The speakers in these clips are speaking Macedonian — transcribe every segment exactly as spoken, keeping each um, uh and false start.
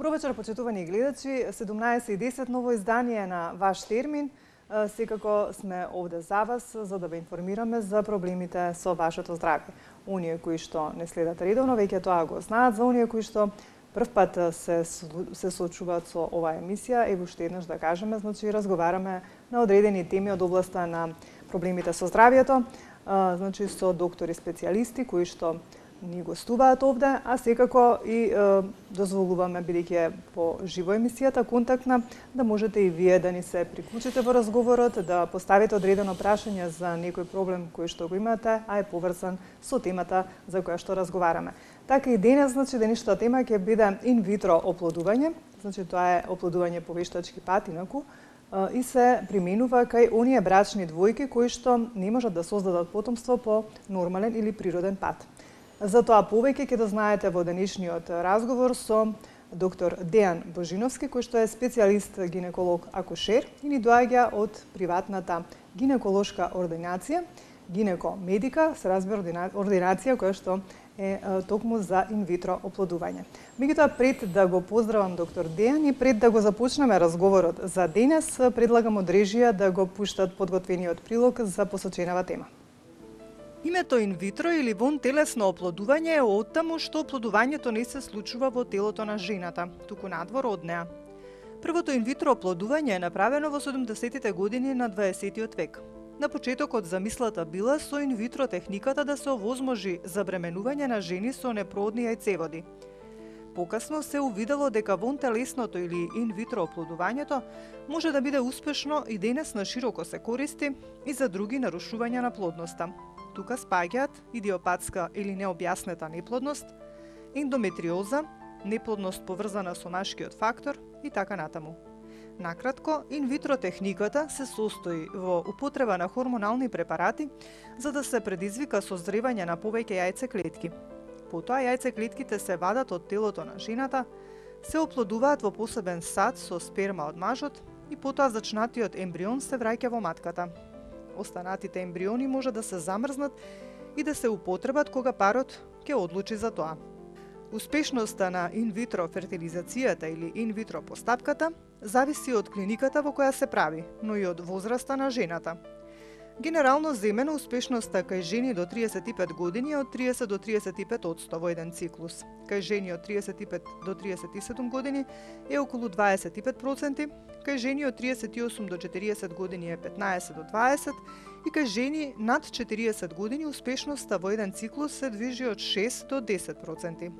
Добро вечер, почитувани гледачи. седумнаесет и десет ново издание на Ваш термин. Секако сме овде за вас, за да ве информираме за проблемите со вашето здравје. Оние кои што не следат редовно, веќе тоа го знаат. За оние кои што прв пат се, се соочуваат со оваа емисија, ево уште еднаш да кажеме, значи разговараме на одредени теми од областа на проблемите со здравјето, значи со доктори специјалисти кои што ни гостуваат овде, а секако и е, дозволуваме, бидејќи по живо емисијата, контактна, да можете и вие да ни се приклучите во разговорот, да поставите одредено прашање за некој проблем кој што го имате, а е поврзан со темата за која што разговараме. Така и денес, значи, денешната тема ќе биде инвитро оплодување, значи тоа е оплодување по вештачки пат, инаку, и се применува кај оние брачни двојки кои што не можат да создадат потомство по нормален или природен пат. За тоа повеќе ќе да знаете во денешниот разговор со доктор Дејан Божиновски, кој што е специјалист гинеколог акушер и ни доаѓа од приватната гинеколошка ординација, гинеко медика, се разбира ординација која што е токму за инвитро оплодување. Меѓутоа, пред да го поздравам доктор Дејан и пред да го започнеме разговорот за денес, предлагам од режија да го пуштат подготвениот прилог за посоченава тема. Името инвитро или вонтелесно оплодување е оттаму што оплодувањето не се случува во телото на жената, туку надвор од неа. Првото инвитро оплодување е направено во седумдесетите години на дваесетиот век. На почетокот замислата била со инвитро техниката да се овозможи забременување на жени со неплодни јајцеводи. Покасно се увидело дека вонтелесното или инвитро оплодувањето може да биде успешно и денес на широко се користи и за други нарушувања на плодноста. Тука спаѓаат идиопатска или необјаснета неплодност, ендометриоза, неплодност поврзана со машкиот фактор и така натаму. Накратко, инвитро техниката се состои во употреба на хормонални препарати за да се предизвика созревање на повеќе јајцеклетки. Потоа јајцеклетките се вадат од телото на жената, се оплодуваат во посебен сад со сперма од мажот и потоа зачнатиот ембрион се враќа во матката. Останатите ембриони може да се замрзнат и да се употребат кога парот ќе одлучи за тоа. Успешноста на инвитро фертилизацијата или инвитро постапката зависи од клиниката во која се прави, но и од возраста на жената. Генерално земено успешноста кај жени до триесет и пет години е од триесет до триесет и пет одсто во еден циклус. Кај жени од триесет и пет до триесет и седум години е околу дваесет и пет проценти, кај жени од триесет и осум до четириесет години е петнаесет до дваесет и кај жени над четириесет години успешноста во еден циклус се движи од шест до десет проценти.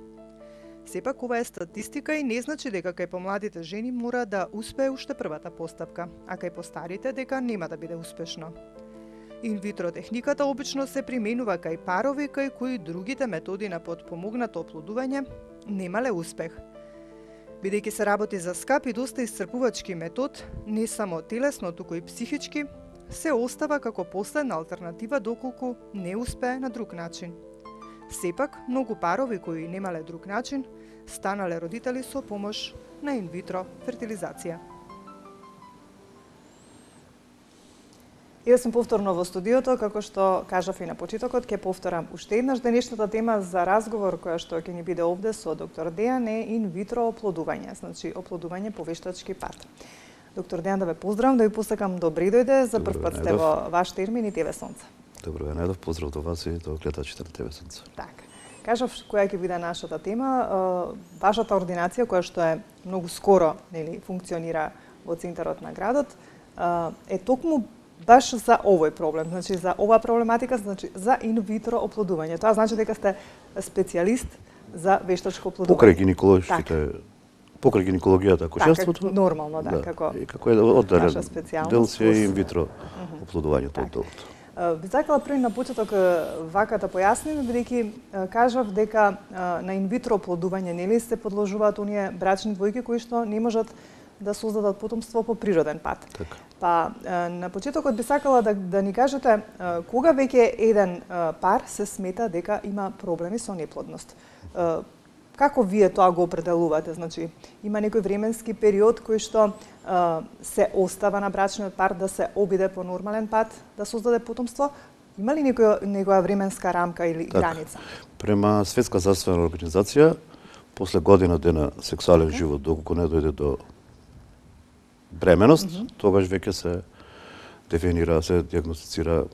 Сепак ова е статистика и не значи дека кај помладите жени мора да успее уште првата постапка, а кај постарите дека нема да биде успешно. Инвитро техниката обично се применува кај парови кај кои другите методи на потпомогнато оплодување немале успех. Бидејќи се работи за скап и доста исцрпувачки метод, не само телесно, туку и психички, се остава како последна алтернатива доколку не успее на друг начин. Сепак, многу парови кои немале друг начин, станале родители со помош на инвитро фертилизација. Ева сум повторно во студиото, како што кажав и на почетокот, ќе повторам уште еднаш денешната тема за разговор која што ќе ни биде овде со доктор Дејан е инвитро оплодување, значи оплодување по вештачки пат. Доктор Дејан, да ве поздравам, да ви посакам добри дојде, за прв пат сте во Ваш термин и Те Ве Сонце. Добро ве најдов, поздрав до вас и до гледачите на Те Ве Сонце. Така. Кажав која ќе биде нашата тема, вашата ординација која што е многу скоро, нели, функционира во центарот на градот, е токму баш за овој проблем, значи за оваа проблематика, значи за инвитро оплодување. Тоа значи дека сте специјалист за вештачко оплодување. Покрај гинеколошките, покрај гинекологијата, акушерството. Така, нормално, да, да, како. И како е одделен дел си плюс... и инвитро оплодувањето од делот. Би сакала први на почеток вака да појасним, бидејќи кажав дека на инвитро оплодување нели се подложуваат оние брачни двојки кои што не можат да создадат потомство по природен пат. Така. Па на почетокот би сакала да, да ни кажете кога веќе еден пар се смета дека има проблеми со неплодност. Како вие тоа го определувате? Значи, има некој временски период кој што се остава на брачниот пар да се обиде по нормален пат да создаде потомство? Има ли некоја, некоја временска рамка или так, граница? Према Светска здравствена организација, после година дена сексуален okay. живот, доколку не дојде до бременост, mm -hmm. тогаш веќе се дефинира, се диагностицира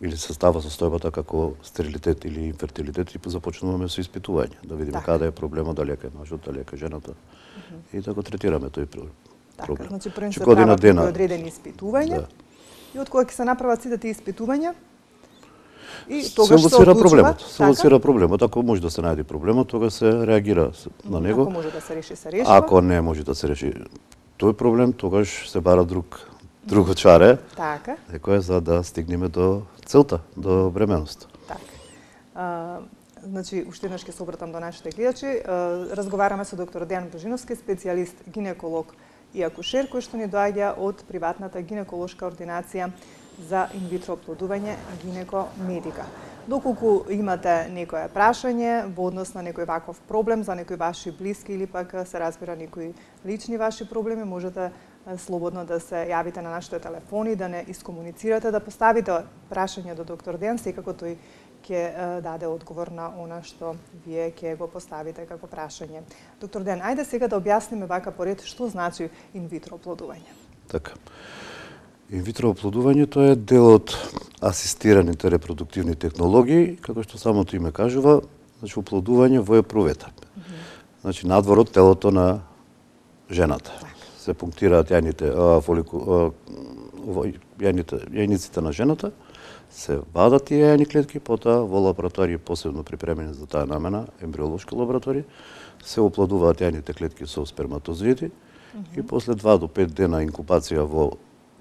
или се става состојбата како стерилитет или инфертилитет и започнуваме со испитување, да видиме така. Каде е проблемот, дали е кај мажот, дали е кај жената. Mm -hmm. И да го третираме тој проблем. Така, значи прво се прават дена... одредени испитувања да. И од кога ќе се направат сите тие испитувања и тогаш се одлучува проблемот. Се лоцира проблемот. Ако може да се најде проблемот, тога се реагира на него. Ако може да се реши, се решава. Ако не може да се реши тој проблем, тогаш се бара друг друго чаре. Така. Некој за да стигнеме до целта, до бременост. Така. А, значи, уште еднаш ќе се обратам до нашите гледачи. Разговараме со доктор Дејан Божиновски, специјалист гинеколог и акушер, кој што ни доаѓа од приватната гинеколошка ординација за инвитро оплодување Гинекомедика. Доколку имате некое прашање во однос на некој ваков проблем за некои ваши блиски или пак се разбира некои лични ваши проблеми, можете слободно да се јавите на нашите телефони, да не искомуницирате, да поставите прашање до доктор Дејан, секако тој ќе даде одговор на она што вие ќе го поставите како прашање. Доктор Дејан, ајде сега да објасниме вака поред што значи инвитро оплодување. Така. Инвитро оплодувањето е дел од асистираните репродуктивни технологии, како што самото име кажува, значи оплодување во епроветер. Mm -hmm. Значи надвор од телото на жената. Так. Се пунктираат јајните, а, фолику, а, јајните, јајниците на жената, се вадат тие јајни клетки, потоа во лабораторија посебно припремени за таа намена, ембриолошки лаборатории, се оплодуваат јајните клетки со сперматозоиди mm -hmm. и после два до пет дена инкубација во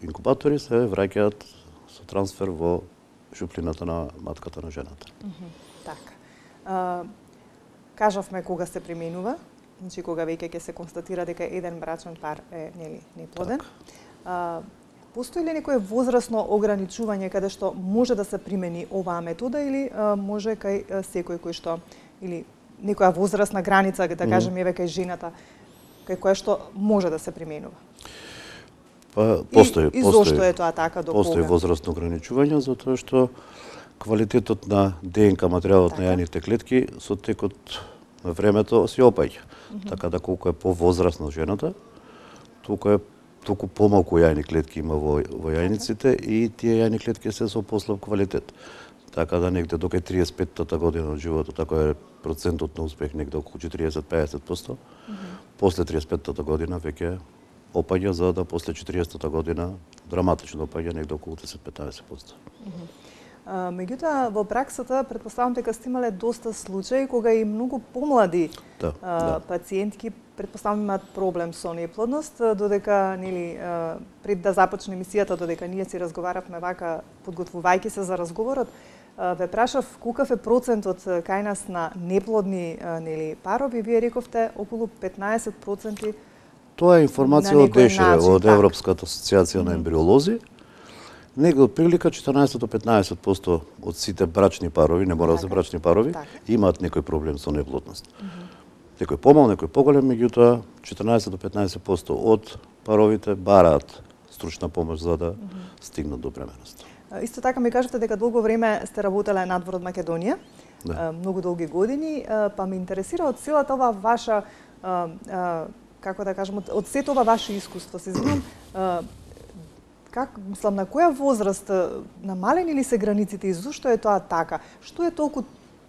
инкубатори се враќаат со трансфер во шуплината на матката на жената. Mm -hmm. Така. А, кажавме кога се применува, значи кога веќе ќе се констатира дека еден брачен пар е нели неплоден. Так. Постои ли некое возрастно ограничување каде што може да се примени оваа метода или а, може кај а, секој кој што или некоја возрастна граница, да кажеме еве кај жената, кај која што може да се применува? Па постои, и, и зошто е тоа така до постои кога? возрастно ограничување затоа што квалитетот на ДНК материјалот така. На јајните клетки со текот на времето се опаѓа. Mm -hmm. Така да колку е повозрастна жената, толку е толку помалку јајни клетки има во, во јајниците и тие јајни клетки се со послаб квалитет. Така да негде до кај триесет и петтата година од животот, така е процентот на успех негде околу четириесет до пеесет проценти. Mm -hmm. После триесет и петтата година веќе опаѓа, за да после четириесеттата година драматично опаѓа негде околу десет до петнаесет проценти. Mm -hmm. А, меѓутоа, во праксата, предпоставам дека сте имале доста случаи кога и многу помлади да, а, да. пациентки предпоставам имаат проблем со неплодност, додека нели пред да започне емисијата, додека ние си разговаравме вака подготвувајќи се за разговорот, ве прашав колкав е процентот кај нас на неплодни нели парови, вие рековте околу петнаесет проценти. Тоа е информација од ДЕШР, од Европската асоциација mm -hmm. на ембриолози. Негде од прилика четрнаесет до петнаесет проценти од сите брачни парови, не мора да се брачни парови, така. Имаат некој проблем со неплодност. Mm -hmm. Некој помал, некој поголем, меѓутоа четрнаесет до петнаесет проценти од паровите бараат стручна помош за да mm -hmm. стигнат до бременост. Исто така ми кажете дека долго време сте работеле надвор од Македонија, да. Многу долги години, па ме интересира од целата ова ваша, како да кажем, од сето ова ваше искуство, се извинувам, как, мислам, на која возраст намалени ли се границите и зошто е тоа така? Што е толку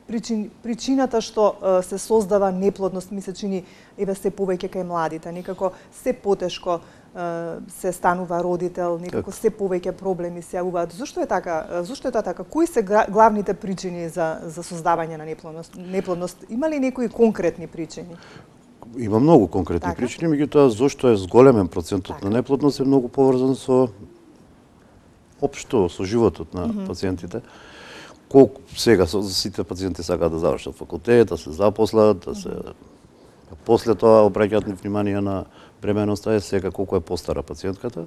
причин, причината што uh, се создава неплодност, ми се чини, еве се повеќе кај младите, некако се потешко uh, се станува родител, некако се повеќе проблеми се јавуваат. Зошто е така? Зошто е тоа така? Кои се главните причини за за создавање на неплодност? Неплодност има ли некои конкретни причини? Има многу конкретни така? причини, меѓутоа зошто е зголемен процентот така. на неплодност е многу поврзан со општо со животот на mm -hmm. пациентите. Колку сега сите пациенти сакаат да завршат факултет, да се запослат, да се после тоа обраќаат внимание на бременоста, е сега колку е постара пациентката,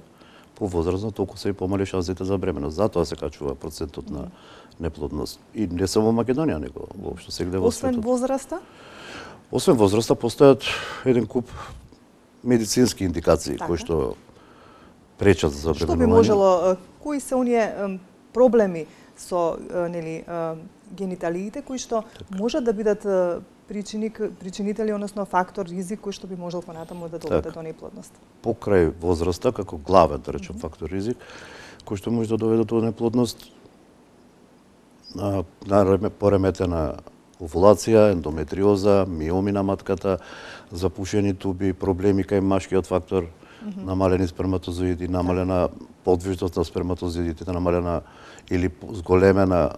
повозрастна, толку се и помали шансите за бременост. Затоа се качува процентот на неплодност. И не само во Македонија, него воопшто сегде во светот. Освен возраста? Освен возраста постојат еден куп медицински индикации така. кои што пречат за бременување. Што би можело, кои се оние проблеми со нели гениталиите кои што можат да бидат причини, причинители, односно фактор ризик кој што би можел понатаму да доведе Так. до неплодност. Покрај возраста, како главен, да речем, фактор ризик, кој што може да доведе до неплодност, на, на пореметена овулација, ендометриоза, миоми на матката, запушени туби, проблеми кај машкиот фактор, mm -hmm. намалени сперматозоиди, намалена подвижност на сперматозоидите, намалена или зголемена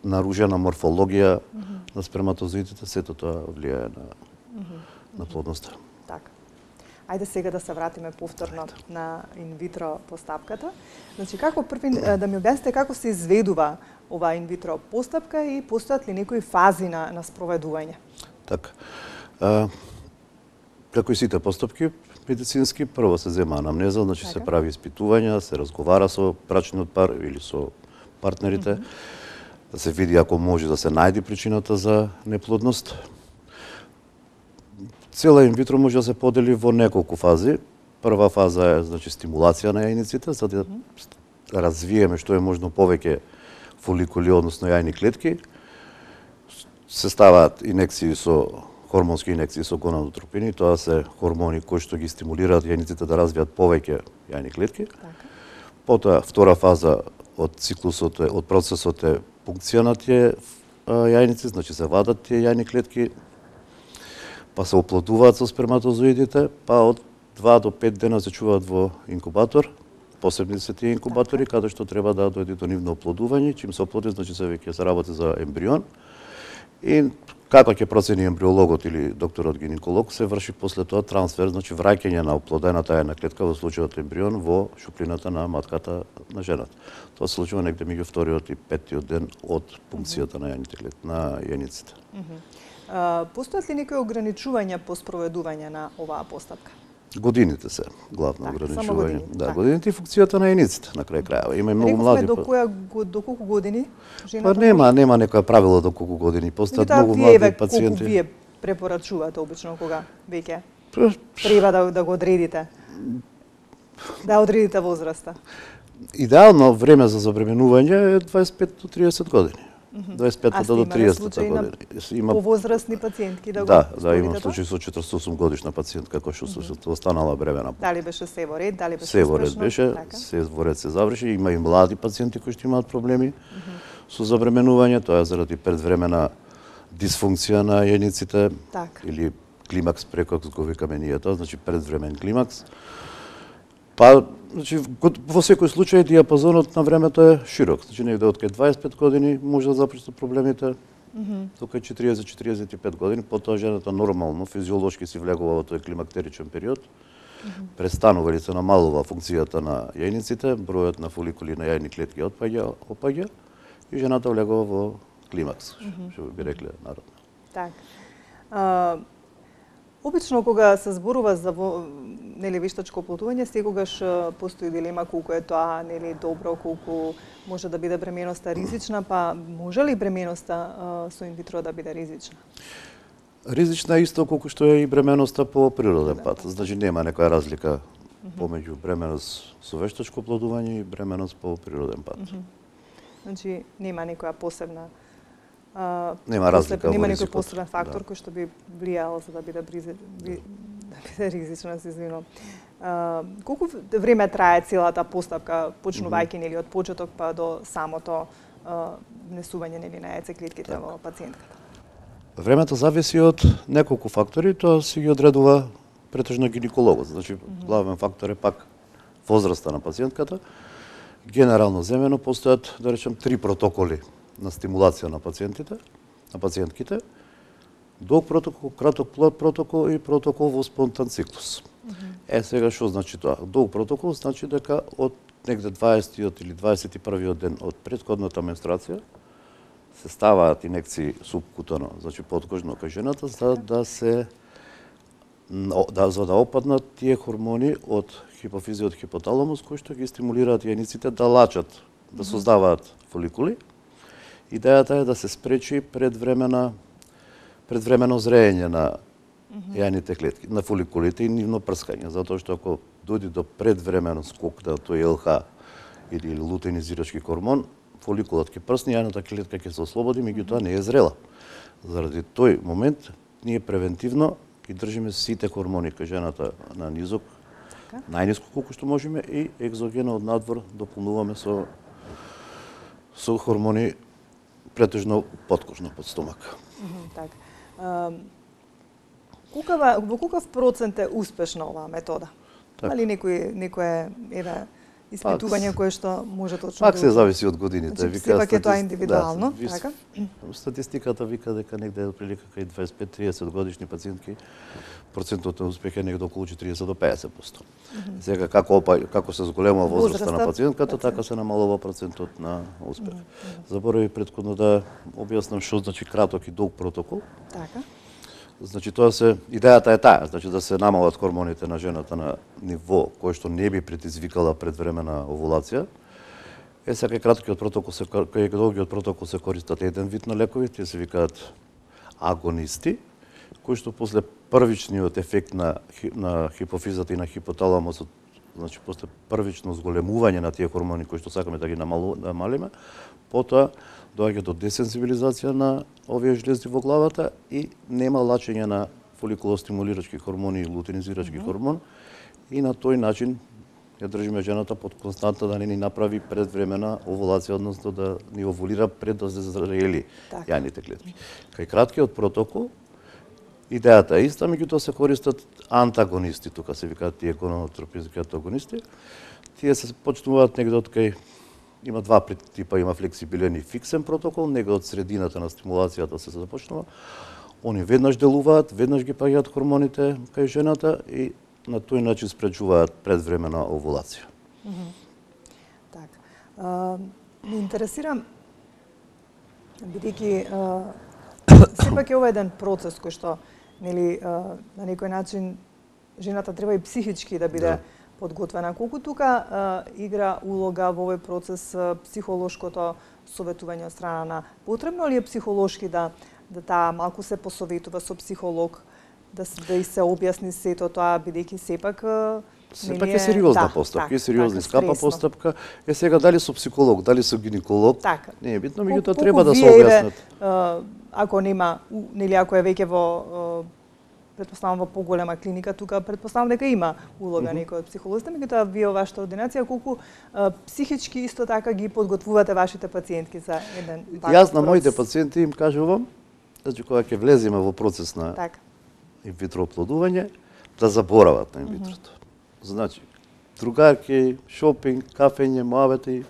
нарушена морфологија mm -hmm. на сперматозоидите, сето тоа влијае на, mm -hmm. на плодноста. Така. Ајде сега да се вратиме повторно на инвитро постапката. Значи, како први да ми објасните како се изведува оваа инвитро постапка и постојат ли некои фази на, на спроведување? Така. А, како и сите постапки медицински, прво се зема анамнеза, значи така. Се прави испитувања, се разговара со брачниот пар или со партнерите, mm -hmm. да се види ако може да се најде причината за неплодност. Цела инвитро може да се подели во неколку фази. Прва фаза е значи стимулација на јајниците, за да mm -hmm. развиеме што е можно повеќе фоликули, односно јајни клетки. Се ставаат инекции со хормонски инекции со гонадотропини, тоа се хормони кои што ги стимулираат јајниците да развијат повеќе јајни клетки. Така. Потоа втора фаза од циклусот е, од процесот е пункција на тие јајници, значи се вадат тие јајни клетки, па се оплодуваат со сперматозоидите, па од два до пет дена се чуваат во инкубатор. Посебни се тие инкубатори, каде што треба да дојде до нивно оплодување. Чим се оплоди, значи се веќе се работи за ембрион. И како ќе процени ембриологот или докторот гинеколог, се врши после тоа трансфер, значи враќање на оплодената јајна клетка, во случајот ембрион, во шуплината на матката на жената. Тоа се случува негде меѓу вториот и петтиот ден од пункцијата на јајните клетки, на јајниците. Постојат ли некои ограничувања по спроведување на оваа постапка? Годините се главно так, ограничување. Години, да, так. годините и функцијата на јајниците на крај крајава. Има и многу Рековме млади. до која до колку години жената? Па нема, може? Нема некоја правило до колку години. Постојат многу млади пациенти. Колку вие препорачувате обично кога веќе треба да да го одредите? Да одредите возраста. Идеално време за забременување е дваесет и пет до триесет години. дваесет и пет до триесет години. Има повозрастни пациентки да го Да, да, имам случај со четиридесет и осум годишна пациентка која што mm -hmm. останала бремена. Дали беше се во ред, дали беше се во ред беше, така? се во ред се заврши, има и млади пациенти кои што имаат проблеми mm -hmm. со забременување, тоа е заради предвремена дисфункција на јајниците так. Или климакс прекокс го викаме ние тоа, значи предвремен климакс. Па, значи, во секој случај диапазонот на времето е широк. Значи, негде од кај дваесет и пет години може да започнат проблемите, mm -hmm. до кај четириесет до четириесет и пет години, потоа жената нормално, физиолошки си влегува во тој климактеричен период, mm -hmm. престанува или се намалува функцијата на јајниците, бројот на фоликули на јајни клетки отпаѓа, опаѓа и жената влегува во климакс, mm -hmm. што би рекле народно. Так. А, обично кога се зборува за во, нели вештачко оплодување, секогаш постои дилема колку е тоа нели добро, колку може да биде бременоста ризична, па може ли бременоста со инвитро да биде ризична? Ризична е исто колку што е и бременоста по природен пат. Значи нема некоја разлика mm -hmm. помеѓу бременост со вештачко оплодување и бременост по природен пат. Mm -hmm. Значи нема некоја посебна Uh, нема разлика нема во некој посебен фактор да. кој што би влијал за да биде бризи, би, да биде ризична, се извинувам. Uh, колку време трае целата постапка, почнувајќи mm -hmm. нели од почеток па до самото uh, внесување нели на јајцеклетките так. Во пациентката? Времето зависи од неколку фактори, тоа се ги одредува претежно гинекологот. Значи mm -hmm. главен фактор е пак возраста на пациентката. Генерално земено постојат, да речем, три протоколи на стимулација на пациентите, на пациентките, долг протокол, краток протокол и протокол во спонтан циклус. Mm -hmm. Е, сега што значи тоа? Долг протокол значи дека од негде дваесетиот или дваесет и првиот ден од претходната менструација се ставаат инекции субкутано, значи подкожно кај жената, за да се да, за да опаднат тие хормони од хипофизиот хипоталамус кои што ги стимулираат јајниците да лачат, да создаваат фоликули. Идејата е да се спречи предвремена предвремено зреење на mm -hmm. јајните клетки, на фоликулите и нивно прскање, затоа што ако дојде до предвремено скок на тој ел ха или лутеинизирачки хормон, фоликулот ќе прсне, јајната клетка ќе се ослободи, меѓутоа не е зрела. Заради тој момент ние превентивно ги држиме сите хормони кај жената на низок, најниско колку што можеме, и екзогено од надвор дополнуваме со со хормони претежно подкожно, под стомак. Така. Кукава, во каков процент е успешна оваа метода? Так. Али некој некое еве испитување кое што може точно Пак се зависи од годините. Значи, сепак е тоа индивидуално, да, така? Статистиката вика дека негде отприлика кај дваесет и пет до триесет годишни пациентки процентот на успех е негде околу четириесет до пеесет проценти. Mm-hmm. Сега како опа, како се зголемува возраста на пациентката, така се намалува процентот на успех. Mm-hmm. Заборави претходно да објаснам што значи краток и долг протокол. Така. Значи тоа се идејата е таа, значи да се намалат хормоните на жената на ниво кој што не би предизвикала предвремена овулација. Е сега краткиот протокол се кај долгиот протокол се користат еден вид на лекови, тие се викаат агонисти, кои што после првичниот ефект на на хипофизата и на хипоталамосот, значи после првично зголемување на тие хормони кои што сакаме да ги намалиме, потоа доаѓа до десензибилизација на овие жлезди во главата и нема лачење на фоликулостимулирачки хормони и лутeinизирачки mm-hmm. хормон, и на тој начин ја држиме жената под константна да не ни направи предвремена овулација, односно да ни овулира пред да се зрели јајните клетки. Кај краткиот протокол идејата е иста, меѓутоа се користат антагонисти, тука се викаат тие гонадотропински антагонисти. Тие се почнуваат негде од кај има два типа, има флексибилен и фиксен протокол, негде од средината на стимулацијата се започнува. Они веднаш делуваат, веднаш ги паѓаат хормоните кај жената и на тој начин спречуваат предвремена овулација. Mm-hmm. Така. Ме интересира, бидејќи сепак е ова еден процес кој што нели на некој начин жената треба и психички да биде да. подготвена. Колку тука а, игра улога во овој процес а, психолошкото советување од страна на потребно ли е психолошки да да таа малку се посоветува со психолог, да се да и се објасни сето тоа, бидејќи сепак сепак е сериозна да, постапка, так, е сериозна так, скапа постапка. Е сега дали со психолог, дали со гинеколог, така. Не е битно, меѓутоа треба да се објаснат. Ако нема, нели ако е веќе во претпоставам во поголема клиника, тука претпоставам дека има улога mm-hmm. некој од психолозите, меѓутоа вие во вашата ординација колку а, психички исто така ги подготвувате вашите пациентки за еден ваков Јас на процес? моите пациенти им кажувам, значи кога ќе влеземе во процес на така. инвитро оплодување, да заборават на инвитрото. Mm-hmm. Значи, другарки, шопинг, кафење, муабети,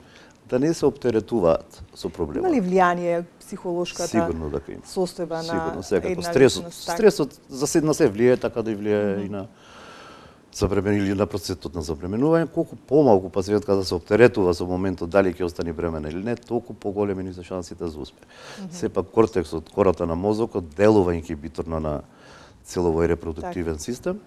да не се оптеретуваат со проблемот. Има ли влијание психолошката Сигурно дека има. состојба на Сигурно, секако. една Стресот, личност? Так. стресот за се на се влијае, така да и влијае mm-hmm. и на забремен или на процесот на забременување. Колку помалку пациентка да се оптеретува со моментот дали ќе остане бремена или не, толку поголеми ни се шансите за успех. Mm-hmm. Сепак кортексот, кората на мозокот делува инхибиторно на целовој репродуктивен так. систем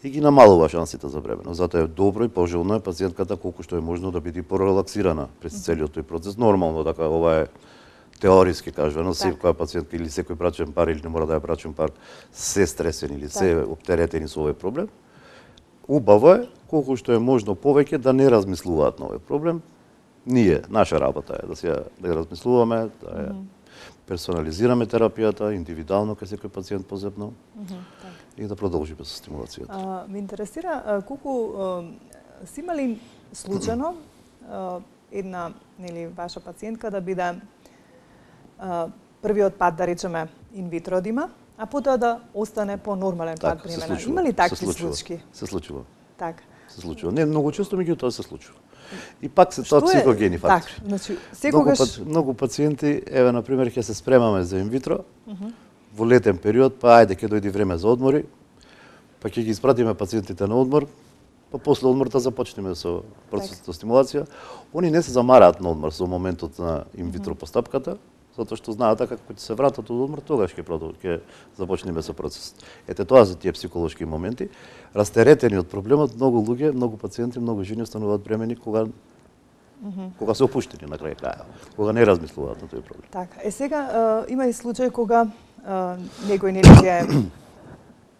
и ги намалува шансите за бременост. Затоа е добро и пожелно е пациентката колку што е можно да биде порелаксирана през целиот тој процес. Нормално, така ова е теориски кажано, секоја пациентка или секој брачен пар или не мора да е брачен пар, се стресени или се оптеретени со овој проблем. Убаво е колку што е можно повеќе да не размислуваат на овој проблем. Ние, наша работа е да се да ја размислуваме, да ја персонализираме терапијата индивидуално кај секој пациент позебно. Mm-hmm. И да продолжиме со стимулацијата. А, ме интересира а, колку а, си имали случајно а, една нели ваша пациентка да биде а, првиот пат да речеме инвитро да има, а потоа да остане по нормален так, пат бремена. Има ли такви случаи? Се случува. Така. Се случува. Не многу често, меѓутоа се случува. И пак се тоа психогени фактори. Так, значи секогаш многу, многу пациенти, еве на пример ќе се спремаме за инвитро. Uh-huh. Во летен период, па ајде ќе дојде време за одмори, па ќе ги испратиме пациентите на одмор, па после одморта започнеме со процесот на стимулација. Они не се замараат на одмор со моментот на инвитро постапката, затоа што знаат дека кога ќе се вратат од одмор, тогаш ќе ќе започнеме со процесот. Ете тоа за тие психолошки моменти. Растеретени од проблемот, многу луѓе, многу пациенти, многу жени стануваат бремени кога Mm-hmm. кога се опуштени на крај крајот, кога не размислуваат на тој проблем. Така, е сега а, има и случај кога а, некој нели ќе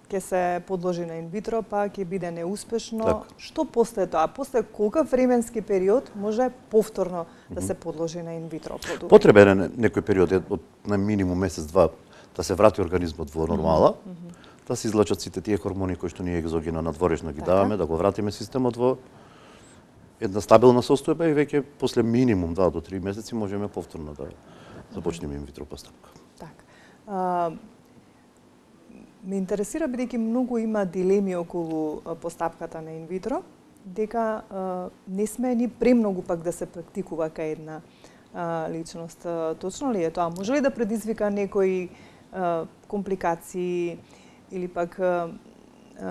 ќе се подложи на инвитро, па ќе биде неуспешно. Так. Што после тоа? После колкав временски период може повторно да се подложи на инвитро оплодување? Потребен е некој период од на минимум месец-два да се врати организмот во нормала, mm -hmm. да се излачат сите тие хормони кои што ние екзогено надворешно ги даваме, да го вратиме системот во една стабилна состојба и веќе после минимум два до три месеци можеме повторно да започнеме инвитро постапка. Так. А, ме интересира, бидејќи многу има дилеми околу постапката на инвитро, дека а, не сме ни премногу пак да се практикува кај една а, личност. Точно ли е тоа? Може ли да предизвика некои а, компликации или пак а,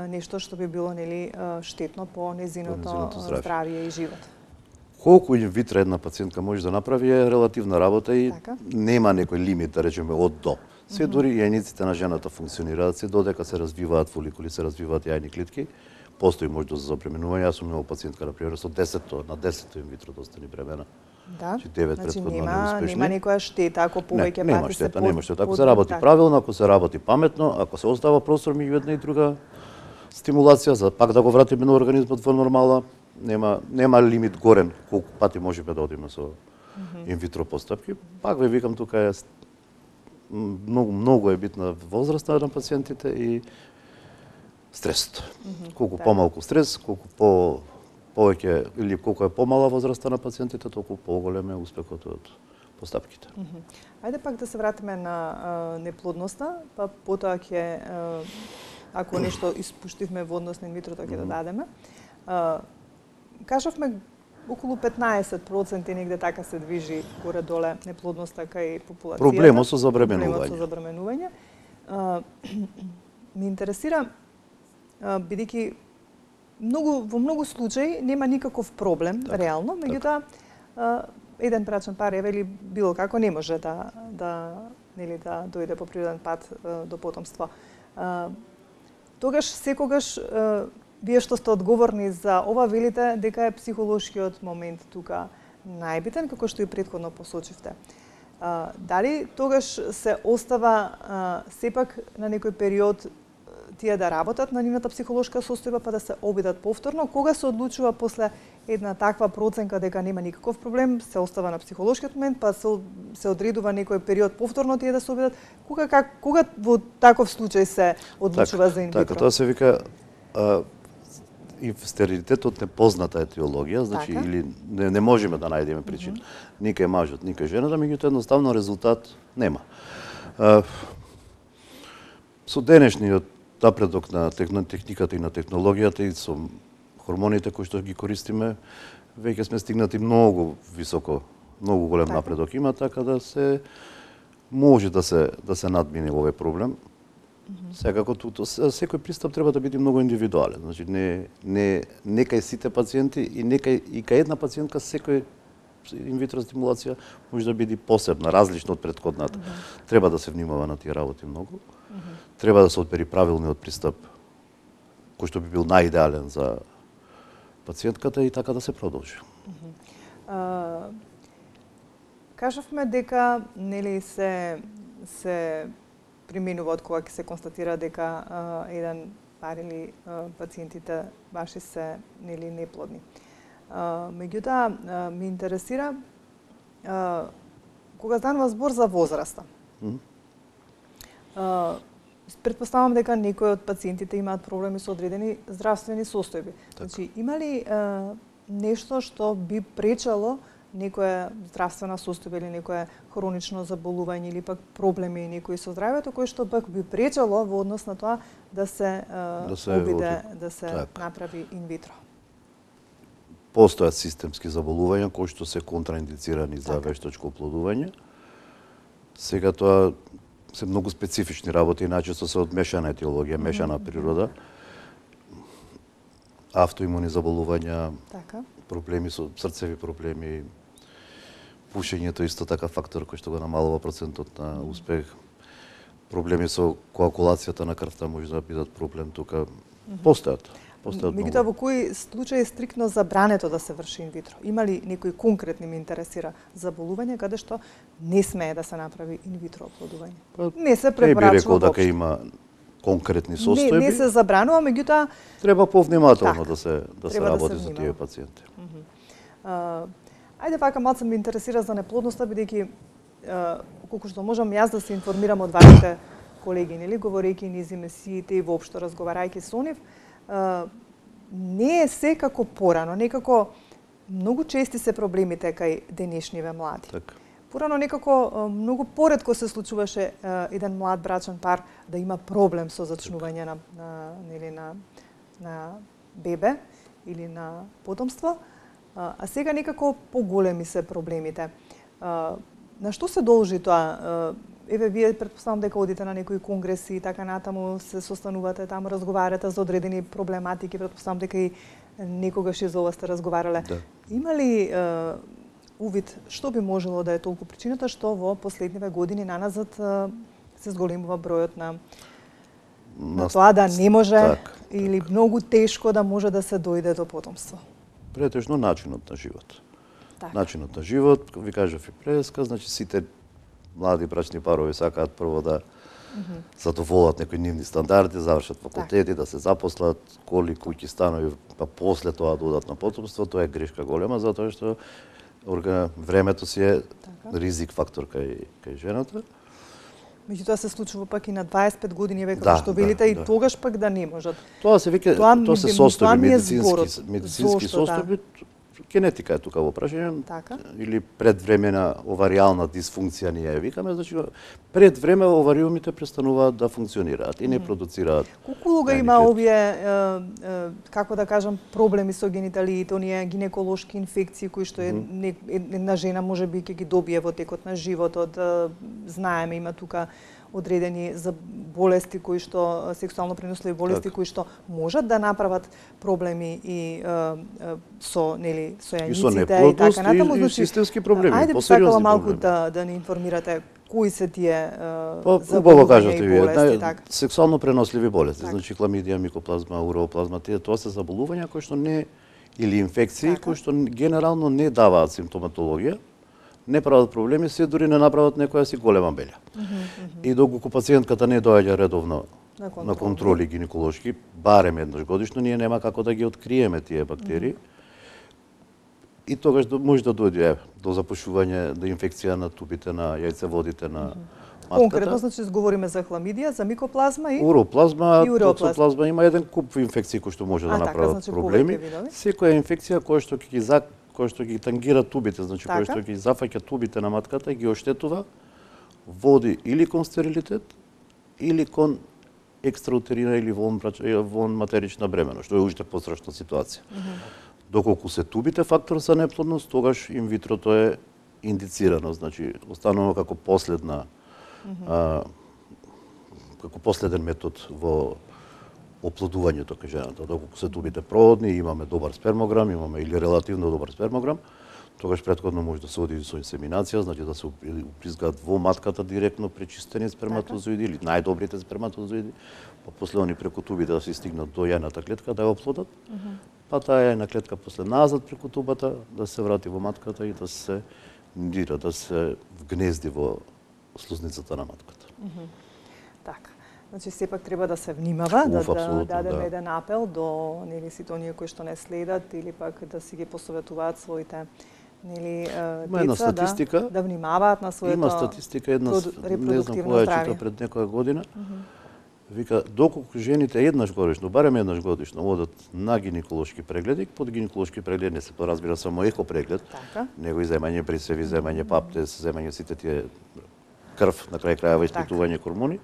нешто што би било нели штетно по незиното здравје. здравје и живот? Колку инвитро една пациентка може да направи е релативна работа и така? Нема некој лимит, да речеме, од до. Се дури јајниците на жената функционираат, се додека се развиваат фоликули, се развиваат јајни клетки, постои можност за забременување. Јас сум имал пациентка, например, со десетто на десетто инвитро да остани бремена. Да. Значи девет значи, претходно нема, неуспешни. нема некоја штета ако повеќе не, пати штета, се нема штета. Ако се работи так. правилно, ако се работи паметно, ако се остава простор меѓу една и друга стимулација за пак да го вратиме на организмот во нормала, нема нема лимит горен колку пати можеме да одиме со инвитро постапки. Пак ве викам, тука е многу многу е битна возраста на пациентите и стресот. Mm -hmm, колку да. Помалку стрес, колку по повеќе или колку е помала возраста на пациентите, толку поголем е успехот од постапките. Mm -hmm. Ајде пак да се вратиме на а, неплодноста, па потоа ќе ако нешто испуштивме во однос на инвитро, тоа ќе mm -hmm. додадеме. А, кажавме околу петнаесет проценти негде така се движи горе-доле неплодноста кај популацијата. Проблемот со забременување. Проблемот со забременување. А, ме интересира, бидејќи многу во многу случаи нема никаков проблем, так, реално, меѓутоа еден брачен пар или било како не може да да нели да дојде по природен пат до потомство. А, тогаш секогаш вие што сте одговорни за ова велите дека е психолошкиот момент тука најбитен, како што и претходно посочивте. А, дали тогаш се остава а, сепак на некој период тие да работат на нивната психолошка состојба па да се обидат повторно? Кога се одлучува после една таква проценка дека нема никаков проблем, се остава на психолошкиот момент, па се, се одредува некој период повторно тие да се обидат? Кога, как, кога во таков случај се одлучува так, за инвитро? Така, тоа се вика а, и стерилитетот непозната етиологија, значи така? Или не, не можеме да најдеме причина. Mm -hmm. Никај мажот, никај жената, меѓутоа едноставно резултат нема. А, со денешниот напредок на техниката и на технологијата и со хормоните кои што ги користиме, веќе сме стигнати многу високо, многу голем така? Напредок има, така да се може да се да се надмине овој проблем. Mm-hmm. Секако туто секој пристап треба да биде многу индивидуален. Значи не не не кај сите пациенти и не кај и кај една пациентка секој инвитро стимулација може да биде посебна, различна од претходната. Mm-hmm. Треба да се внимава на тие работи многу. Mm-hmm. Треба да се одбери правилниот пристап кој што би бил најидеален за пациентката и така да се продолжи. Mm-hmm. uh, кажавме дека нели се се применува од кога ќе се констатира дека а, еден пар или а, пациентите ваши се нели неплодни. А, меѓутоа ме интересира а, кога станува збор за возраста. Mm -hmm. а, Предпоставам дека некои од пациентите имаат проблеми со одредени здравствени состојби. Так. Значи, има ли а, нешто што би пречело некоја здравствена состојба или некое хронично заболување или пак проблеми некои со здравјето кои што пак би пречело во однос на тоа да се, да се обиде, да се так. Направи инвитро? Постојат системски заболувања кои што се контраиндицирани за така. Вештачко оплодување. Сега тоа се многу специфични работи, најчесто се од мешана етиологија, мешана mm -hmm. природа. Автоимуни заболувања, така. Проблеми со срцеви проблеми, пушењето исто така фактор кој што го намалува процентот на успех. Проблеми со коагулацијата на крвта може да бидат проблем тука. Постојат. Постојат многу. Меѓутоа во кои случаи е стриктно забрането да се врши инвитро? Има ли некои конкретни ме интересира заболување каде што не смее да се направи инвитро оплодување? Па, не се препорачува воопшто. Не би рекол дека има конкретни состојби. Не, не се забранува, меѓутоа треба повнимателно така, да се да се да работи се за тие пациенти. Mm -hmm. uh, ајде вака малку ме интересира за неплодноста, бидејќи uh, колку што можам јас да се информирам од вашите колеги, нели, говорејќи низ емисиите и воопшто разговарајќи со нив, uh, не е се како порано, некако многу чести се проблемите кај денешниве млади. Така. Порано некако многу поретко се случуваше еден млад брачен пар да има проблем со зачнување на, на нели на на бебе или на потомство, а сега некако поголеми се проблемите. На што се должи тоа? Еве, вие претпоставам дека одите на некои конгреси и така натаму, се состанувате таму, разговарате за одредени проблематики, претпоставам дека и некогаш и за ова сте разговарале. Да. Има ли е, увид што би можело да е толку причината што во последниве години наназад е, се зголемува бројот на на, на тоа да не може так, или так. многу тешко да може да се дојде до потомство? Претежно начинот на живот. Так. Начинот на живот, ви кажав и преска, значи сите млади брачни парови сакаат прво да mm -hmm. задоволат некои нивни стандарди, завршат факултети, так. да се запослат, коли, куќи, станови, па после тоа додат на потомство, тоа е грешка голема, затоа што времето си е така. ризик фактор кај, кај жената. Меѓутоа се случува пак и на дваесет и пет години веќе да, што велите да, и да. тогаш пак да не можат. Тоа се веќе тоа, тоа се состојби медицински, медицински Зошто, состојби. Да. Генетика е тука во прашање, така? Или предвремена оваријална дисфункција ние ја викаме, значи пред време овариумите престануваат да функционираат и не продуцираат. Колку луга има овие е, е, како да кажам проблеми со гениталиите, оние гинеколошки инфекции кои што е, mm -hmm. една жена можеби ќе ги добие во текот на животот, знаеме има тука одредени за болести кои што сексуално преносливи болести так. кои што можат да направат проблеми и е, е, со нели со јајниците и, и така натаму, и, и системски проблеми, ајде посериозни малку проблеми. да да ни информирате кои се тие па, убаво кажате вие, нај, сексуално преносливи болести, так. значи хламидија, микоплазма, уреоплазма, тие тоа се заболувања кои што не или инфекции така. кои што генерално не даваат симптоматологија, не прават проблеми, се дури не направат некоја си голема белја. Mm -hmm. И доколку пациентката не доаѓа редовно на, контрол. на контроли гинеколошки, барем еднаш годишно, ние нема како да ги откриеме тие бактерии. Mm -hmm. И тогаш може да дојде до запушување, до инфекција на тубите, на јајцеводите, на mm -hmm. матката. Конкретно, значи, говориме за хламидија, за микоплазма и уроплазма, и токсоплазма, има еден куп инфекции кои што може да а, направат така, значи, проблеми. Секоја инфекција која што ќе ги зак кој што ги тангира тубите, значи така? кој што ги зафаќа тубите на матката и ги оштетува, води или кон стерилитет, или кон екстраутерина или вон, вон матерична бременост, што е уште пострашна ситуација. Mm -hmm. Доколку се тубите фактор за неплодност, тогаш инвитрото е индицирано, значи останува како последна mm -hmm. а, како последен метод во оплодувањето кај жената. Доколку се тубите проводни, имаме добар спермограм, имаме или релативно добар спермограм, тогаш претходно може да се оди со инсеминација, значи да се упризгаат во матката директно пречистени сперматозоиди или најдобрите сперматозоиди, па после они преку тубите да се стигнат до јајната клетка да ја оплодат, mm -hmm. па таа јајна клетка после назад преку тубата да се врати во матката и да се дира, да се вгнезди во слузницата на матката. Mm -hmm. Така. Значи, сепак треба да се внимава, Уф, да, да дадеме да. еден апел до нели сите оние кои што не следат или пак да си ги посоветуваат своите нели деца да, да внимаваат на своето Има статистика една, не знам која чита пред некоја година. Mm -hmm. Вика, доколку жените еднаш годишно, барем еднаш годишно, одат на гинеколошки прегледи, под гинеколошки преглед не се поразбира само еко преглед, така? него и земање присеви, земање паптез, земање сите тие крв, на крај крајава испитување хормони,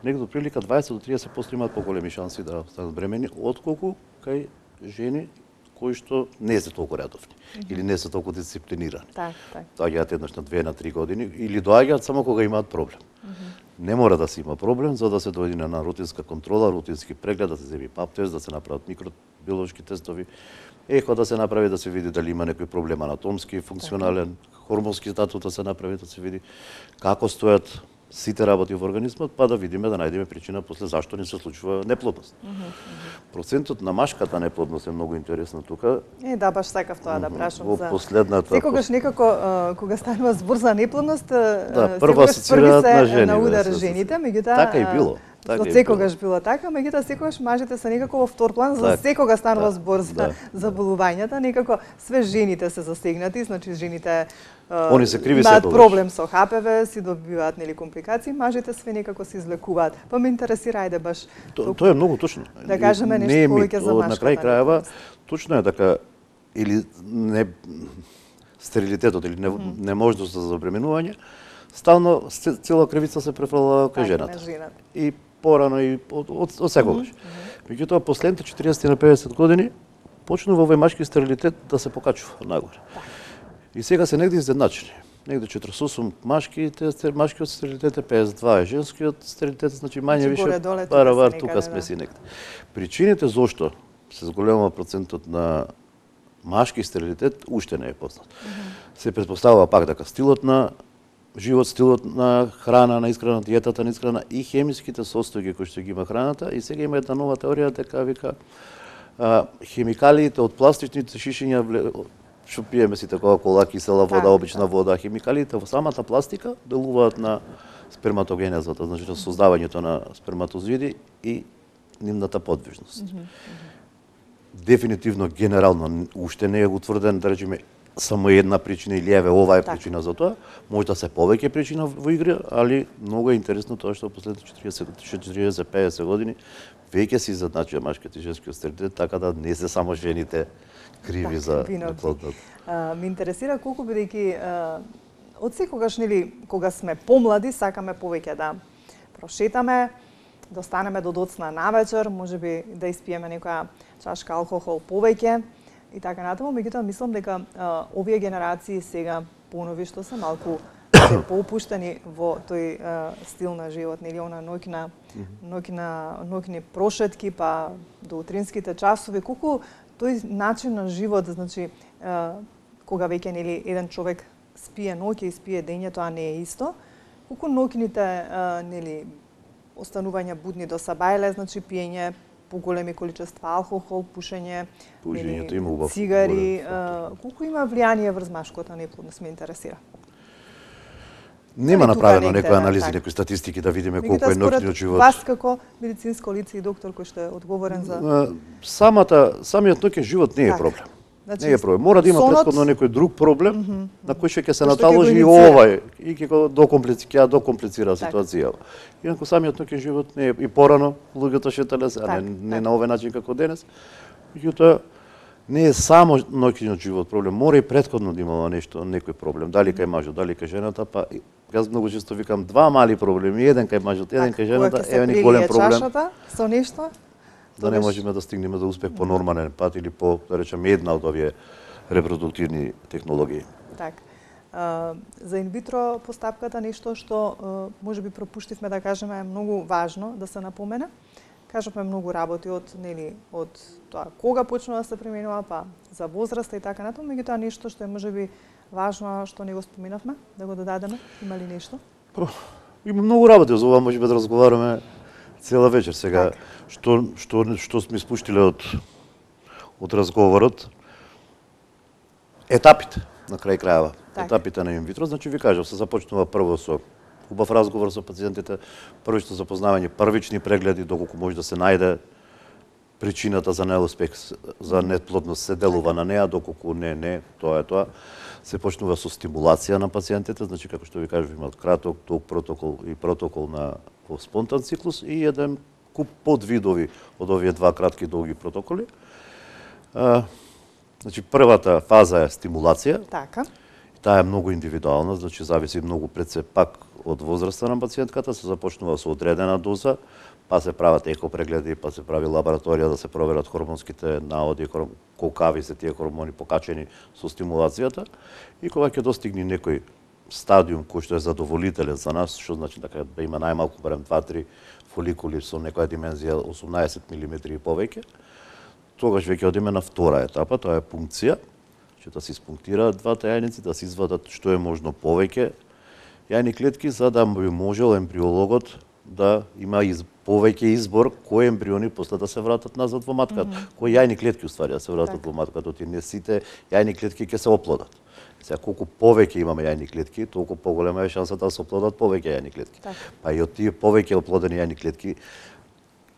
негде прилика дваесет до триесет проценти имаат поголеми шанси да станат бремени, отколку кај жени кои што не се толку редовни mm -hmm. или не се толку дисциплинирани. Так, так. Доаѓаат еднаш на две, на три години или доаѓаат само кога имаат проблем. Mm -hmm. Не мора да се има проблем за да се дојде на рутинска контрола, рутински преглед, да се земи паптез, да се направат микробиолошки тестови, ехо да се направи да се види дали има некој проблем анатомски, функционален, хормонски статут да се направи да се види како стојат сите работи во организмот, па да видиме, да најдеме причина после зашто не се случува неплодност. Mm -hmm. Процентот на машката неплодност е многу интересно тука. Е, да, баш сакав тоа да прашам во за последната. Секогаш некако uh, кога станува збор за неплодност, да, прва асоцираат на жени. На удар жените, меѓутоа така и било. Така За е секогаш било така, меѓутоа секогаш мажите се некако во втор план, за Так, секога станува да, збор за да. заболувањата, некако све жените се засегнати, значи жените Они се криви имаат секогаш. проблем со Х П В, си добиваат нели компликации, мажите све некако се излекуваат. Па ме интересира ајде баш То, тоа е многу точно. Да кажеме нешто Не е мит. повеќе за Од- На крај машката крајава, неплодност. точно е дека или не стерилитетот или не, неможност за забременување, стално се- цела кривица се префрлува кај Така, жената. на жената. И порано и од, од, од секогаш. Меѓутоа последните четириесет на педесет години почнува овој машки стерилитет да се покачува нагоре. И сега се негде изненачени. Негде четириесет и осум машките, стер- машкиот стерилитет е педесет и два е женскиот стерилитет, значи мање Значи, више горе-доле тука паравар се тука некаде, сме да. си негде. Причините зошто се зголемува процентот на машки стерилитет уште не е познат. Се претпоставува пак дека стилот на живот, стилот на храна, на исхрана, диетата на исхрана и хемиските состојки кои што ги има храната. И сега има една нова теорија дека вика а, хемикалиите од пластичните шишиња вле- што пиеме сите кола-кола, кисела вода, Така, обична вода, хемикалиите во самата пластика делуваат на сперматогенезата, значи на создавањето на сперматозиди и нивната подвижност. Дефинитивно генерално уште не е утврден, да речеме, само една причина или еве ова е Така. причина за тоа. Може да се повеќе причина во игра, али многу е интересно тоа што последните четириесет до педесет години веќе се изедначува машкиот и женскиот стерилитет, така да не се само жените криви Така, за виновни. неплодност. А, ме интересира колку бидејќи а, од секогаш нели кога сме помлади сакаме повеќе да прошетаме, да останеме до доцна навечер, можеби да испиеме некоја чашка алкохол повеќе и така натаму, меѓутоа мислам дека а, овие генерации сега понови што се малку се поопуштени во тој а, стил на живот, нели она ноќна ноќна ноќни прошетки па до утринските часови, колку тој начин на живот, значи а, кога веќе нели еден човек спие ноќе и спие дење, тоа не е исто. Колку ноќните а, нели останување будни до сабајле, значи пиење поголеми количества алкохол, пушење, Пушењето нели, има убав цигари, голем а, колку има влијание врз машката неплодност, ме интересира. Нема Али тука направено негде, некои да, анализи, така. некои статистики да видиме Меѓутоа, колку е според ноќниот живот. Вас како медицинско лице и доктор кој што е одговорен за А, Самата самиот ноќен живот не е Така. проблем. Значи, Не е проблем. Мора да има сонот- претходно некој друг проблем на кој што ќе се Кој што ќе наталожи го и инициира. овај и ќе го докомплицира, ќе ја докомплицира Така. ситуацијава. Инаку самиот ноќен живот не е и порано луѓето шетале се, а Така, не, не така. на овој начин како денес. Меѓутоа не е само ноќниот живот проблем, мора и претходно да имало нешто, некој проблем, дали кај мажот, дали кај жената, па и- јас многу често викам два мали проблеми, еден кај мажот, еден Така, кај кога жената, ќе се еве ни прелие голем проблем. чашата со нешто, Да не тогаш- можеме да стигнеме до успех по нормален пат или по, да речеме, една од овие репродуктивни технологии. така. А, за инвитро постапката нешто што а, можеби пропуштивме да кажеме е многу важно да се напомене. Кажавме многу работи од нели од тоа кога почнува да се применува, па за возраста и така натаму, меѓутоа нешто што е можеби важно а што не го споменавме, да го додадеме, има ли нешто? Па, има многу работи за ова, можеме да разговараме цела вечер сега. Така. Што што што сме спуштиле од од разговорот, етапите на крај крајава, Така. етапите на инвитро, значи ви кажав, се започнува прво со убав разговор со пациентите, првично запознавање, првични прегледи доколку може да се најде причината за неуспех, за неплодност се делува на неа, доколку не, не, тоа е тоа. Се почнува со стимулација на пациентите, значи како што ви кажав, имаат краток, долг протокол и протокол на во спонтан циклус и еден куп подвидови од овие два кратки долги протоколи. А, значи првата фаза е стимулација. Така. Таа е многу индивидуална, значи зависи многу пред се пак од возраста на пациентката, се започнува со одредена доза, па се прават екопрегледи, па се прави лабораторија да се проверат хормонските наоди, колкави се тие хормони покачени со стимулацијата и кога ќе достигне некој стадиум кој што е задоволителен за нас, што значи дека да има најмалку барем два-три фоликули со некоја димензија осумнаесет милиметри и повеќе, тогаш веќе одиме на втора етапа, тоа е пункција, че да се испунктираат двата јајници, да се извадат што е можно повеќе јајни клетки, за да би можел ембриологот да има из, повеќе избор кои ембриони после да се вратат назад во матката, mm -hmm. кои јајни клетки уствари да се вратат так. во матката, ти не сите јајни клетки ќе се оплодат. Сега колку повеќе имаме јајни клетки, толку поголема е шансата да се оплодат повеќе јајни клетки. Так. Па и од тие повеќе оплодени јајни клетки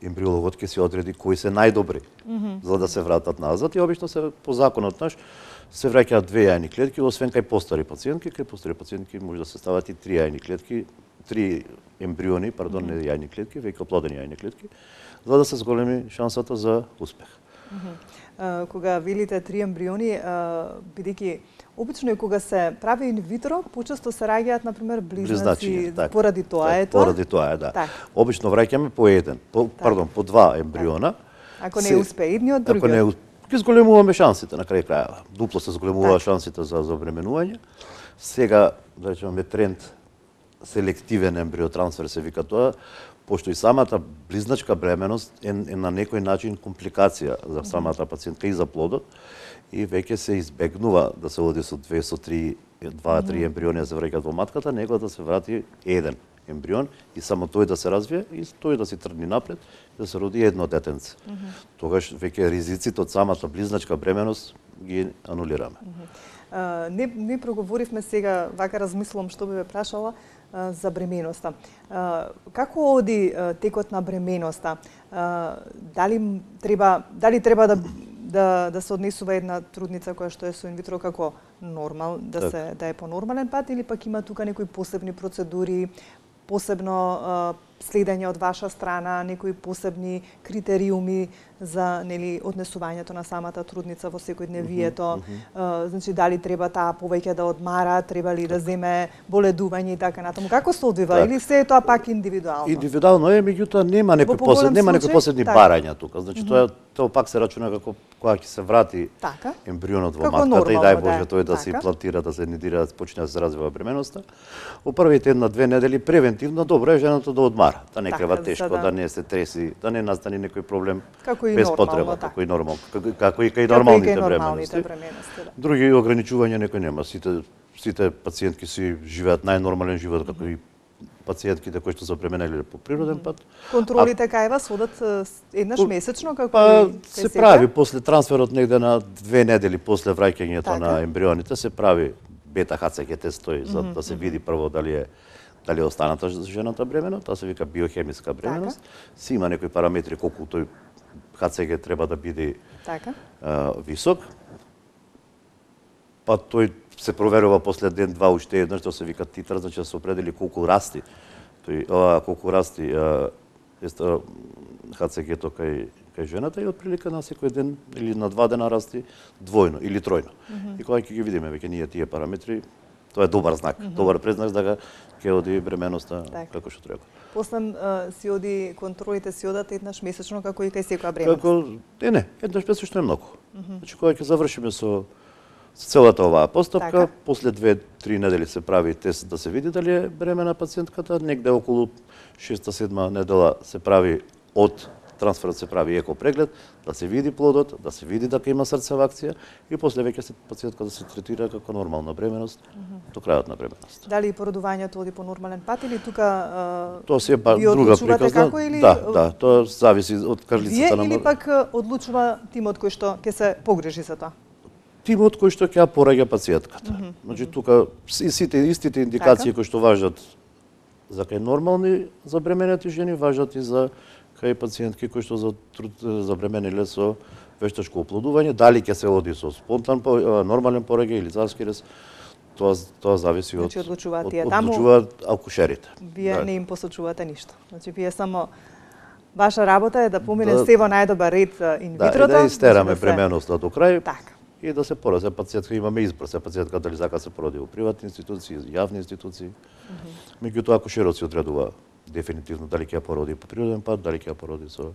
ембриологот ќе си одреди кои се најдобри mm -hmm. за да се вратат назад и обично се по законот наш се враќаат две јајни клетки, освен кај постари пациентки, кај постари пациентки може да се стават и три јајни клетки, три ембриони, пардон, mm -hmm. не јајни клетки, веќе оплодени јајни клетки, за да се зголеми шансата за успех. Mm -hmm. uh, кога велите три ембриони, uh, бидејќи обично и кога се прави инвитро, почесто се раѓаат на пример близнаци, близнаци поради тоа так, е тоа. Поради тоа е, да. Так. Обично враќаме по еден, по, так. пардон, по два ембриона. Так. Ако не успее едниот, другиот. Ако не ќе зголемуваме шансите на крај крајава. Дупло се зголемува так. шансите за забременување. Сега, да речеме, тренд селективен ембриотрансфер се вика тоа, пошто и самата близначка бременост е, е на некој начин компликација за самата пациентка и за плодот и веќе се избегнува да се оди со две, со три, два, три ембриони да се враќаат во матката, него да се врати еден ембрион и само тој да се развие и тој да се тргне напред и да се роди едно детенце. Mm -hmm. Тогаш веќе ризиците од самата близначка бременост ги анулираме. Mm -hmm. uh, не, не проговоривме сега, вака размислувам што би ве прашала, uh, за бременоста. Uh, како оди uh, текот на бременоста? Uh, дали треба дали треба да да да се однесува една трудница која што е со инвитро како нормал, да так. се да е по нормален пат или пак има тука некои посебни процедури, посебно uh, следење од ваша страна, некои посебни критериуми за нели однесувањето на самата трудница во секојдневието. Mm -hmm. uh, значи дали треба таа повеќе да одмара, треба ли да земе боледување и така натаму. Како се одвива так. или се е тоа пак индивидуално? Индивидуално е, меѓутоа нема некои посебни, нема некои посебни так. барања тука. Значи mm -hmm. тоа тоа пак се рачуна како кога ќе се врати така? ембрионот во како матката нормално, и дај Боже да тој да така? се имплантира, да се нидира, да почне да се развива бременоста. Во првите една-две недели превентивно добро е жената да одмара, да не крива тешко, да... да не се треси, да не настане некој проблем како без потреба, како и нормално, како, како и кај нормалните бременности. Да. Други ограничувања некој нема, сите сите пациентки си живеат најнормален живот како и пациентките кои што се преминале по природен пат. Контролите а, кај вас одат еднаш по, месечно како па, и се сега? Прави после трансферот негде на две недели после враќањето така? на ембрионите се прави бета Х Ц Г тест тој за mm -hmm. да се види прво дали е дали е останата жената бремена, тоа се вика биохемиска бременост. Така? Си има некои параметри колку тој Х Ц Г треба да биде така? а, висок. Па тој се проверува после ден два уште еднаш, тоа се вика титар, значи да се определи колку расти. Тој а, колку расти а, еста Х Ц Г-то кај кај жената и отприлика на секој ден или на два дена расти двојно или тројно. Mm -hmm. И кога ќе ги видиме веќе ние тие параметри, тоа е добар знак, mm -hmm. добар предзнак дека ќе оди бременоста так. како што треба. После uh, си оди контролите си одат еднаш месечно како и кај секоја бременост. Како е не, еднаш месечно е многу. Mm -hmm. Значи кога ќе завршиме со целата оваа постапка, така. После две-три недели се прави тест да се види дали е бремена пациентката, негде околу шеста-седма недела се прави од трансферот се прави еко преглед, да се види плодот, да се види дека има срцева акција и после веќе се пациентка да се третира како нормална бременост mm -hmm. до крајот на бременост. Дали породувањето оди по нормален пат или тука тоа се е па друга приказна? Како, или... Да, да, тоа зависи од крлицата на или пак одлучува тимот кој што ќе се погрижи за тоа? Тимот кој што ќе ја пораѓа пациентката. Mm -hmm. Значи тука и сите истите индикации така? кои што важат за кај нормални забременети жени важат и за кај пациентки кои што за забремениле со вештачко оплодување, дали ќе се оди со спонтан нормален пораѓај или царски рез, тоа тоа зависи значи, од одлучуваат тие од, таму. Одлучуваат акушерите. Вие да. не им посочувате ништо. Значи вие само ваша работа е да помине да, се во најдобар ред инвитрото. Да, и да истераме да бременоста се... до крај. Така. И да се породи. Се пациентка имаме избор, се пациентка дали сака се породи во приватни институции, јавни институции. Mm -hmm. Меѓутоа акушерот си одредува дефинитивно дали ќе ја породи по природен пат, дали ќе ја породи со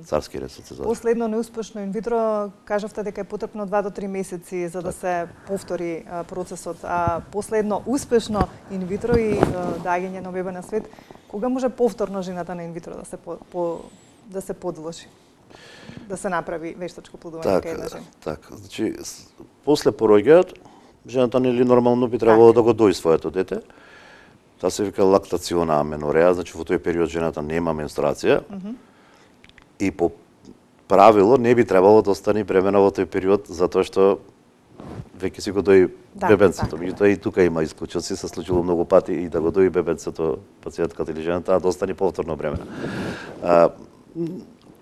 царски рез. Последно неуспешно инвитро, кажавте дека е потребно два до три месеци за да так. се повтори процесот, а последно успешно инвитро и даѓање на бебе на свет, кога може повторно жената на инвитро да се по, по да се подложи? Да се направи вештачко плодување така, кај една жена. Така, значи после пороѓајот жената нели нормално би требало така. да го дои своето дете. Таа се вика лактациона аменореа, значи во тој период жената нема менструација. Mm -hmm. И по правило не би требало да остане бремена во тој период, затоа што веќе си го дои да, бебенцето. Меѓутоа и тука има исклучоци, се случило многу пати и да го дои бебенцето пациентката или жената, а да остане повторно бремена. А,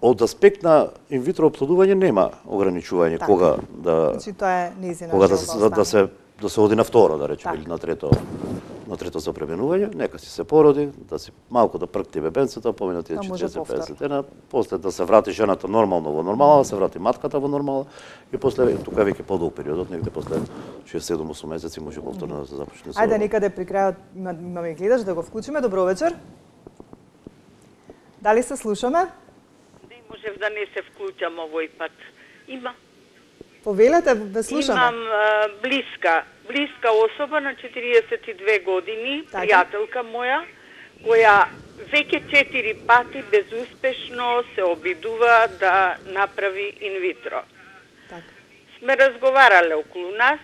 од аспект на инвитро оплодување нема ограничување так. Кога да значи тоа е нејзина кога да се да, да се да се оди на второ, да речеме, или на трето на трето за преминување, нека си се породи, да си малку да пркти бебенцето, помина тие четириесет песет дена, после да се врати жената нормално во нормала, да се врати матката во нормала и после тука веќе подолг периодот, негде после шест седум осум месеци може повторно да се започне. Ајде некаде при крајот имаме гледач да го вклучиме. Добро вечер. Дали се слушаме? Не можев да не се вклучам овој пат. Има. Повелете, ве слушаме. Имам а, блиска, блиска особа на четириесет и две години, така. Пријателка моја, која веќе четири пати безуспешно се обидува да направи инвитро. Так. Сме разговарале околу нас,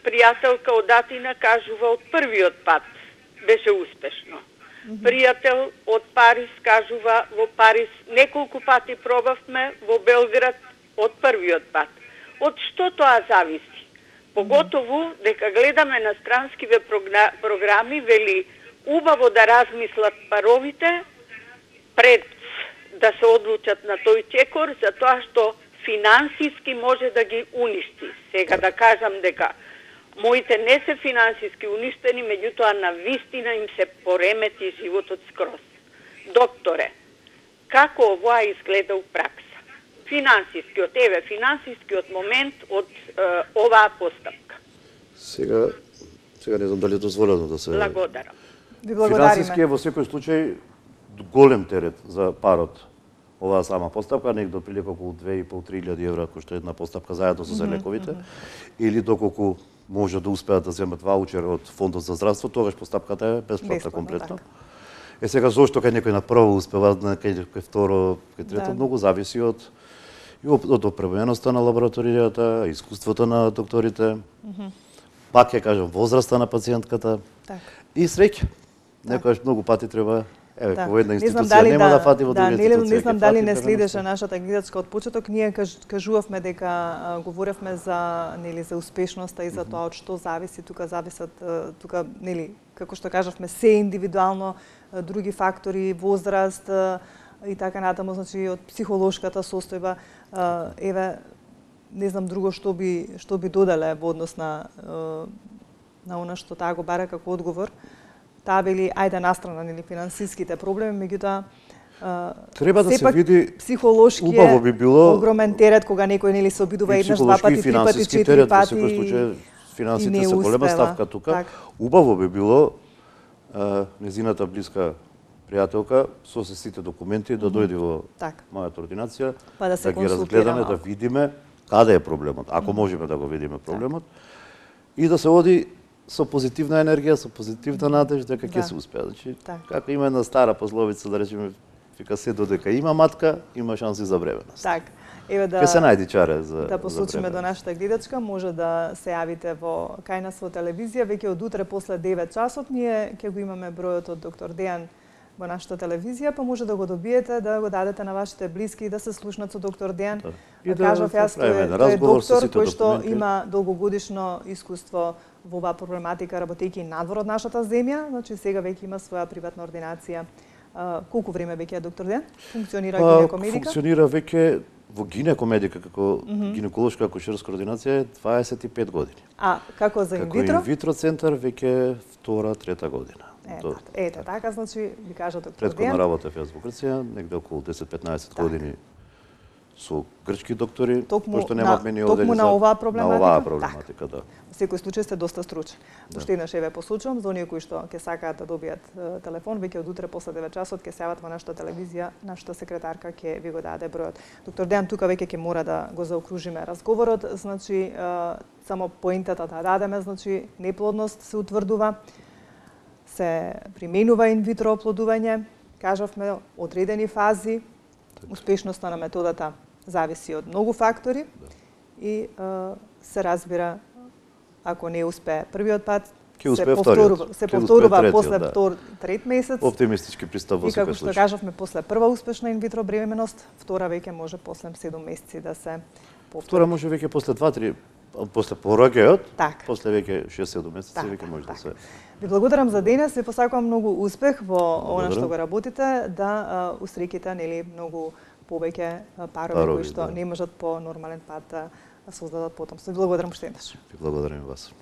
пријателка од Атина кажува од првиот пат беше успешно. Mm -hmm. Пријател од Париз кажува во Париз неколку пати пробавме, во Белград од првиот пат. Од што тоа зависи? Поготово дека гледаме на странскиве програми, вели убаво да размислат паровите пред да се одлучат на тој чекор, затоа што финансиски може да ги уништи. Сега да кажам дека моите не се финансиски уништени, меѓутоа на вистина им се поремети животот скроз. Докторе, како ова изгледа у пракса? Финансискиот, еве, финансискиот момент од е, оваа постапка. Сега, сега не знам дали е дозволено да се... Благодарам. Ви благодариме. Финансиски е во секој случај голем терет за парот. Оваа сама постапка, негде отприлика околу две и пол до три илјади евра кошта една постапка заедно со лековите, mm -hmm. или доколку може да успеат да земат ваучер од Фондот за здравство, тогаш постапката е бесплатна комплетно. Так. Е сега зошто кај некој на прво успева, кај кај второ, кај трето, да. Многу зависи од и од опременоста на лабораторијата, искуството на докторите, mm -hmm. пак ќе кажам возраста на пациентката, так. И среќа. Некојаш многу пати треба, еве, да. Во една институција нема да, да фати во друга да, институција. Не знам дали не следеше нашата гледачка од почеток, ние каж, кажувавме дека а, говоревме за нели за успешноста и за тоа од што зависи, тука зависат тука нели како што кажавме се индивидуално, други фактори, возраст и така натаму, значи од психолошката состојба. Еве, не знам друго што би што би додале во однос на на она што таа го бара како одговор. Таа вели ајде настрана нели финансиските проблеми, меѓутоа треба да се види психолошки убаво би било огромен терет кога некој нели се обидува еднаш, два пати, три пати, четири пати. Во секој случај финансите се голема ставка тука. Так. Убаво би било а, незината блиска пријателка со се сите документи да дојде во так. Мојата ординација, па да, да ги разгледаме, да видиме каде е проблемот, ако можеме да го видиме проблемот, так. И да се оди со позитивна енергија, со позитивна надеж дека ќе да. Се успее. Значи, так. Како има една стара пословица, да речеме, вика се додека има матка, има шанси за бременост. Так. Еве да ќе се најди чаре за да посочиме до нашата гледачка, може да се јавите во кај нас во телевизија, веќе од утре после девет часот ние ќе го имаме бројот од доктор Дејан во нашата телевизија, па може да го добиете, да го дадете на вашите блиски и да се слушнат со доктор Дејан. Да. Да кажав јас, тој е доктор кој што има долгогодишно искуство во оваа проблематика, работејќи надвор од нашата земја, значи сега веќе има своја приватна ординација. А, колку време веќе е доктор Дејан? Функционира па, гинекомедика? Функционира веќе во гинекомедика како mm -hmm. гинеколошка акушерска ординација дваесет и пет години. А како за инвитро? Како инвитро центар веќе втора, трета година. Ето, ете, така, значи, ви кажа доктор Дејан. Претходна работа во Грција, негде околу десет-петнаесет години со грчки доктори, кои што немаат мене одели токму на оваа проблематика. На оваа проблематика, да. Во секој случај сте доста стручен. Уште еднаш еве посочувам за оние кои што ќе сакаат да добијат телефон, веќе од утре после девет часот ќе се јават во нашата телевизија, нашата секретарка ќе ви го даде бројот. Доктор Дејан, тука веќе ќе мора да го заокружиме разговорот, значи само поентата да дадеме, значи неплодност се утврдува, се применува инвитро оплодување, кажавме одредени фази, успешноста на методата зависи од многу фактори и е, се разбира, ако не успее првиот пат, Ќе се успее повторува, вториот. се Ќе успее повторува третиот, после да. втор, трет месец. Оптимистички пристап во И како секој што случај. кажавме, после прва успешна инвитро бременост, втора веќе може после седум месеци да се повтори. Втора може веќе после два-три, после пораѓајот, Так. после веќе шест-седум месеци Так, веќе може да так. се. Ви благодарам за денес, ви посакувам многу успех во она Благодарам. што го работите, да а, усреките нели многу повеќе а, парови, Парови, кои што да. не можат по нормален пат да создадат потомство. Ви благодарам уште еднаш. Ви благодарам и вас.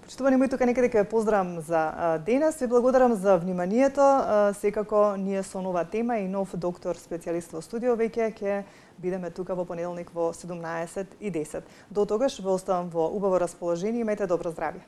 Почитувани мои, тука некаде ќе ве поздравам за а, денес. Ви благодарам за вниманието. А, секако ние со нова тема и нов доктор специјалист во студио веќе ќе бидеме тука во понеделник во седумнаесет и десет. До тогаш ве оставам во убаво расположение. Имајте добро здравје.